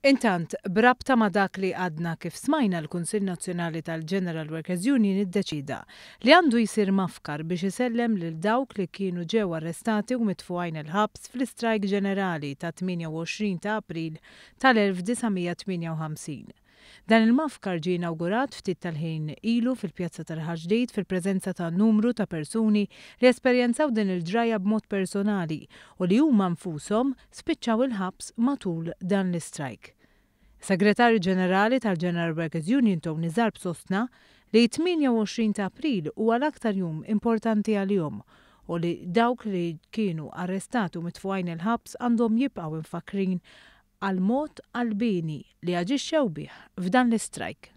Intant, b'rabta ma' dak li għadna kif smajna, l-Kunsill Nazzjonali tal-General Workers Union iddeċieda li għandu jsir mafkar biex isellem lil dawk li kienu ġew arrestati u mitfugħin il-ħabs fl-istrajk ġenerali tat-28 ta' April tal-1958. Dan il-mafkar ġie inawgurat ftit tal-ħin ilu fil-Pjazza ta' Raħal Ġdid fil-preżenza ta' numru ta' persuni li esperjenzaw din il-ġrajja b'mod personali u li huma nfushom spiċċaw il-ħabs matul dan l-istrajk. Segretarju Ġenerali tal-General Workers Union Tony Zarb sostna li 28 ta' April huwa l-aktar jum importanti għalihom u li dawk li kienu arrestati u mitfugħin il-ħabs għandhom jibqgħu imfakrin għall-mod qalbieni li aġixxew bih f'dan l-istrajk.